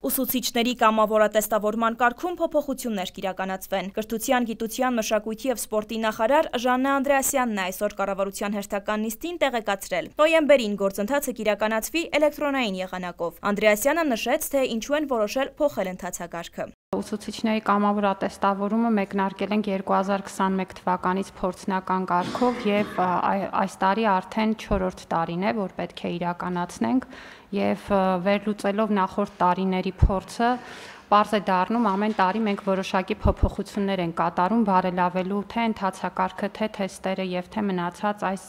Ուսուցիչների կամավորատեստավորման կարգում փոփոխություններ կիրականացվեն։ Կրթության, գիտության, մշակույթի և սպորտի նախարար Ժաննա Անդրեասյանն այսօր կառավարության հերթական նիստին տեղեկացրել։ Նոյեմբերին գործընթացը կիրականացվի էլեկտրոնային եղանակով։ Անդրեասյանը նշեց, թե ինչու են որոշել փոխել ընթացակարգը։ Ուսուցիչների կամավորատեստավորումը մեկնարկել ենք 2021 թվականից փորձնական կարգով և այս տարի արդեն 4-րդ տարին է, որ պետք է իրականացնենք և վերլուծելով նախորդ տարիների փորձը պարզ է դառնում ամեն տարի մենք որոշակի փոփոխություններ ենք կատարում բարելավելու թե ընթացակարգը, թե թեստերը և թե մնացած այս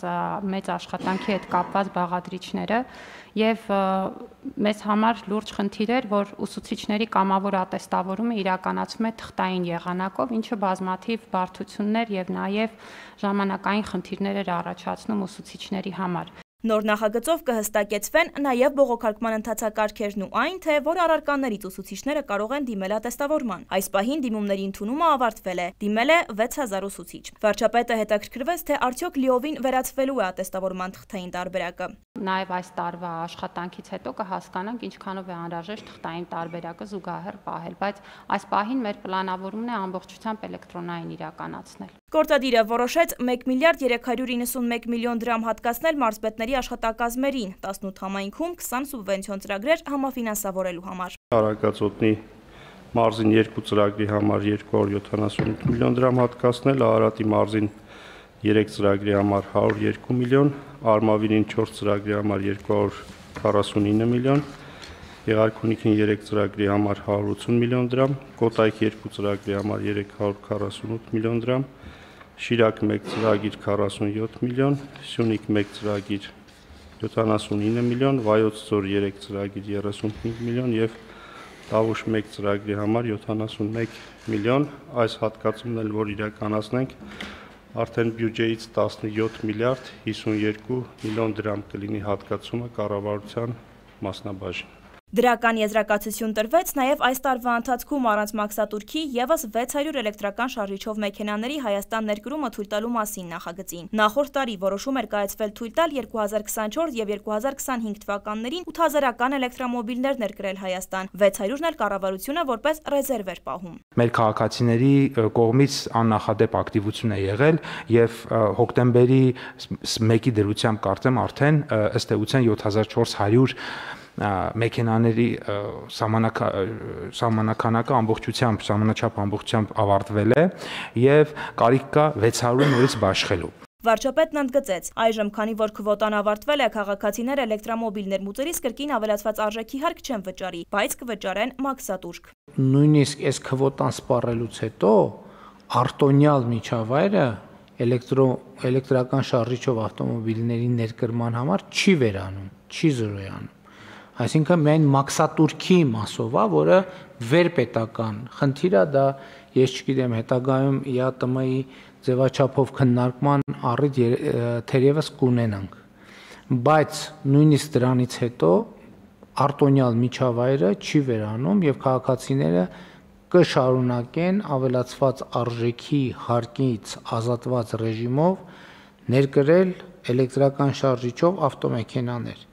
մեծ աշխատանքի հետ կապված բաղադրիչները և մեզ համար լուրջ խնդիր էր, որ ուսուցիչների կամավորատեստավորումը իրականացվում է թղթային եղանակով, ինչը բազմաթիվ բարդություններ և նաև ժամանակային խնդիրներ էր առաջացնում ուսուցիչների համար։ Նոր նախագծով կհստակեցվեն նաև բողոքարկման ընթացակարգերն ու այն, թե որ առարկաներից ուսուցիչները կարող են դիմել ատեստավորման։ Այս պահին դիմումների ընդունումը ավարտվել է, դիմել է 6000 ուսուցիչ։ Վարչապետը հետաքրքրվեց, թե արդյոք լիովին վերացվելու է ատեստավորման թղթային տարբերակը։ Նաև այս տարվա աշխատանքից հետո կհասկանանք ինչքանով է անհրաժեշտ թղթային տարբերակը զուգահեռ պահել, բայց այս պահին մեր պլանավորումն է ամբողջությամբ էլեկտրոնային իրականացնել։ Գործադիրը որոշեց 1 միլիարդ 391 միլիոն դրամ հատկացնել մարզպետների աշխատակազմերին, 18 համայնքում 20 սուբվենցիոն ծրագրեր համաֆինանսավորելու համար։ Արագածոտնի մարզին 2 ծրագրի համար 278 միլիոն դրամ հատկացնել, Արարատի մարզին 3 ծրագրի համար 102 միլիոն, Արմավիրին 4 ծրագրի համար 249 միլիոն, Եղարքունիքին 3 ծրագրի համար 180 միլիոն դրամ, Կոտայք 2 ծրագրի համար 348 միլիոն դրամ, Շիրակ 1 ծրագիր 47 միլիոն, Սյունիք 1 ծրագիր 79 միլիոն, Վայոց Ձոր 3 ծրագիր 35 միլիոն և Տավուշ 1 ծրագրի համար 71 միլիոն, այս հատկացումն էլ որ իրականացնենք, արդեն բյուջեից 17 միլիարդ 52 միլիոն դրամ կլինի հատկացումը կառավարության մասնաբաժին։ Դրական եզրակացություն տրվեց նաև այս տարվա ընթացքում առանց մաքսատուրքի ևս 600 էլեկտրական շարժիչով մեքենաների Հայաստան ներկրումը թույլ տալու մասին նախագծին։ Նախորդ տարի որոշում էր կայացվել թույլ տալ 2024 և 2025 թվականներին 8000-ական էլեկտրամոբիլներ ներկրել Հայաստան, 600-ն էլ կառավարությունը որպես ռեզերվ էր պահում։ Մեր քաղաքացիների կողմից աննախադեպ ակտիվություն է եղել և հոկտեմբերի 1-ի դրությամբ կարծեմ արդեն ըստ էության 7400 մեքենաների սահմանականակը սահմանաչափ ամբողջությամբ ավարտվել է և կարիք կա 600-ը նորից բաշխելու։ Վարչապետն ընդգծեց, այժմ քանի որ քվոտան ավարտվել է, քաղաքացիներ էլեկտրամոբիլներ մուծելիս կրկին ավելացված արժեքի հարկ չեն վճարի, բայց կվճարեն մաքսատուրք։ Նույնիսկ այս քվոտան սպառելուց հետո արտոնյալ միջավայրը էլեկտրական շարժիչով ավտոմոբիլների ներկրման համար չի վերանում, չի զրոյանում։ Այսինքն միայն մաքսատուրքի մասով է, որը վերպետական խնդիր է, դա ես չգիտեմ հետագայում ԵԱՏՄ-ի ձևաչափով քննարկման առիթ թերևս կունենանք, բայց նույնիսկ դրանից հետո արտոնյալ միջավայրը չի վերանում և քաղաքացիները կշարունակեն ավելացված արժեքի հարկից ազատված ռեժիմով ներկրել էլեկտրական շարժիչով ավտոմեքենաներ։